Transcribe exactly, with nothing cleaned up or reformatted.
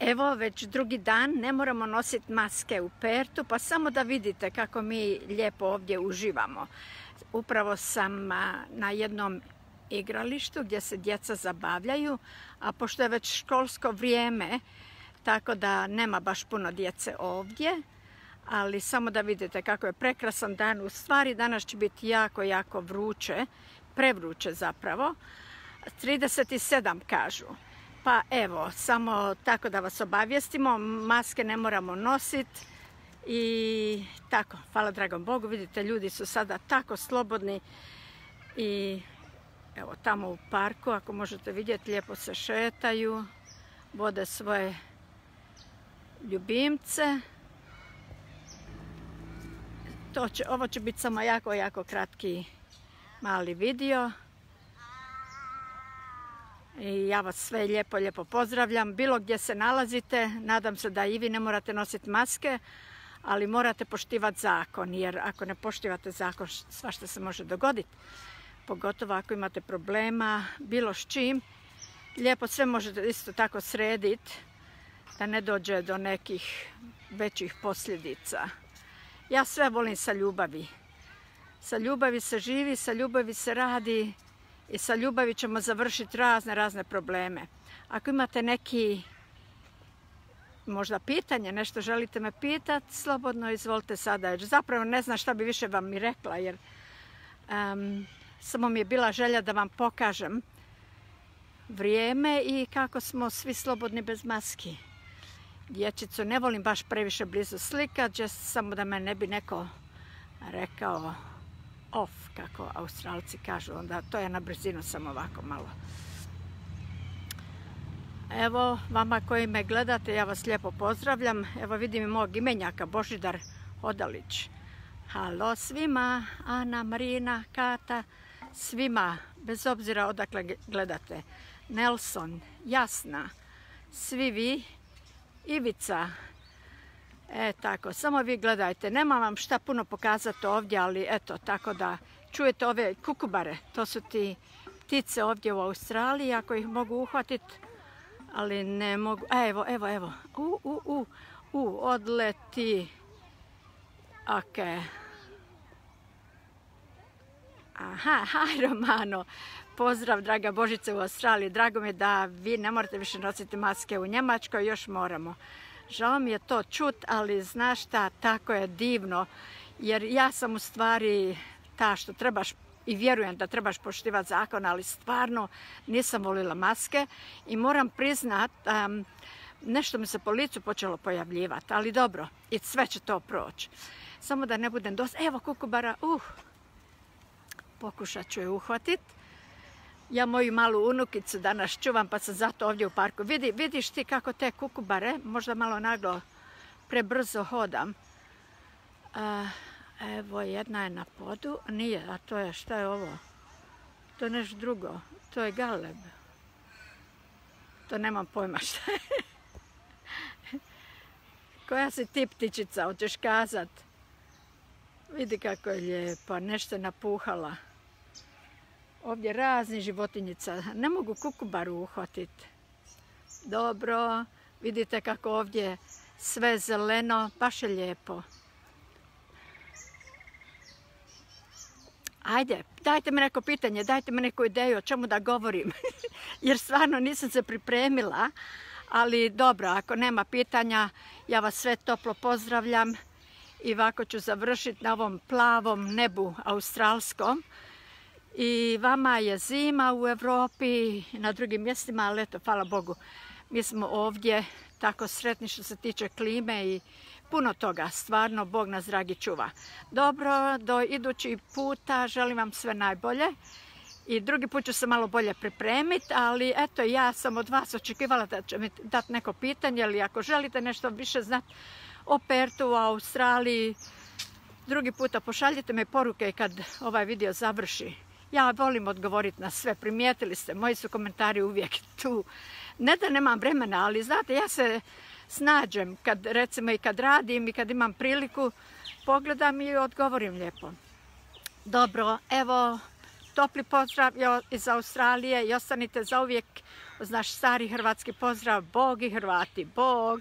Evo, već drugi dan ne moramo nositi maske u Pertu, pa samo da vidite kako mi lijepo ovdje uživamo. Upravo sam na jednom igralištu gdje se djeca zabavljaju, a pošto je već školsko vrijeme, tako da nema baš puno djece ovdje, ali samo da vidite kako je prekrasan dan. U stvari danas će biti jako, jako vruće, prevruće zapravo. trideset sedam kažu. Pa evo, samo tako da vas obavijestimo, maske ne moramo nositi i tako, hvala dragom Bogu, vidite ljudi su sada tako slobodni i evo tamo u parku, ako možete vidjeti, lijepo se šetaju, vode svoje ljubimce. To će, ovo će biti samo jako, jako kratki mali video. I ja vas sve lijepo, lijepo pozdravljam. Bilo gdje se nalazite, nadam se da i vi ne morate nositi maske, ali morate poštivati zakon, jer ako ne poštivate zakon, svašta se može dogoditi. Pogotovo ako imate problema, bilo s čim. Lijepo sve možete isto tako srediti, da ne dođe do nekih većih posljedica. Ja sve volim sa ljubavi. Sa ljubavi se živi, sa ljubavi se radi. I sa ljubavi ćemo završiti razne, razne probleme. Ako imate neki možda pitanje, nešto želite me pitati, slobodno izvolite sada. Jer zapravo ne znam šta bi više vam mi rekla, jer um, samo mi je bila želja da vam pokažem vrijeme i kako smo svi slobodni bez maski. Dječicu ne volim baš previše blizu slikati, samo da me ne bi neko rekao off, kako Australci kažu, onda to je na brzinu samo ovako malo. Evo, vama koji me gledate, ja vas lijepo pozdravljam. Evo vidim i mog imenjaka, Božidar Hodalić. Halo svima, Ana, Marina, Kata, svima, bez obzira odakle gledate. Nelson, Jasna, svi vi, Ivica. E tako, samo vi gledajte, nema vam šta puno pokazati ovdje, ali eto, tako da čujete ove kukubare, to su ti ptice ovdje u Australiji, ako ih mogu uhvatiti, ali ne mogu, a evo, evo, evo, u, u, u, u, odleti, ok. Aha, haj Romano, pozdrav draga Božice u Australiji, drago mi je da vi ne morate više nositi maske u Njemačkoj, još moramo. Žao mi je to čut, ali znaš šta, tako je divno, jer ja sam u stvari ta što trebaš i vjerujem da trebaš poštivati zakon, ali stvarno nisam volila maske i moram priznat, um, nešto mi se po licu počelo pojavljivati, ali dobro, i sve će to proći. Samo da ne budem dosta, evo kukubara, uh, pokušat ću je uhvatiti. Ja moju malu unukicu danas čuvam, pa sam zato ovdje u parku. Vidi, vidiš ti kako te kukubare, možda malo naglo prebrzo hodam. A, evo, jedna je na podu, nije, a to je, šta je ovo? To je nešto drugo, to je galeb. To nemam pojma šta je. Koja si ti ptičica, hoćeš kazat? Vidi kako je lijepa, nešto je napuhala. Ovdje razni životinjica, ne mogu kukubaru uhvatiti. Dobro, vidite kako ovdje sve zeleno, baš je lijepo. Ajde, dajte mi neko pitanje, dajte mi neku ideju o čemu da govorim. Jer stvarno nisam se pripremila, ali dobro, ako nema pitanja, ja vas sve toplo pozdravljam. I ovako ću završiti na ovom plavom nebu australskom. I vama je zima u Europi i na drugim mjestima, ali eto, hvala Bogu, mi smo ovdje tako sretni što se tiče klime i puno toga, stvarno Bog nas dragi čuva. Dobro, do idućih puta želim vam sve najbolje i drugi put ću se malo bolje pripremiti, ali eto, ja sam od vas očekivala da će mi dati neko pitanje, ili ako želite nešto više znati o Pertu, u Australiji, drugi puta pošaljite mi poruke kad ovaj video završi. Ja volim odgovoriti na sve, primijetili ste, moji su komentari uvijek tu. Ne da nemam vremena, ali znate, ja se snađem, kad, recimo i kad radim i kad imam priliku, pogledam i odgovorim lijepo. Dobro, evo, topli pozdrav iz Australije i ostanite zauvijek uz naš stari hrvatski pozdrav, Bog i Hrvati, Bog.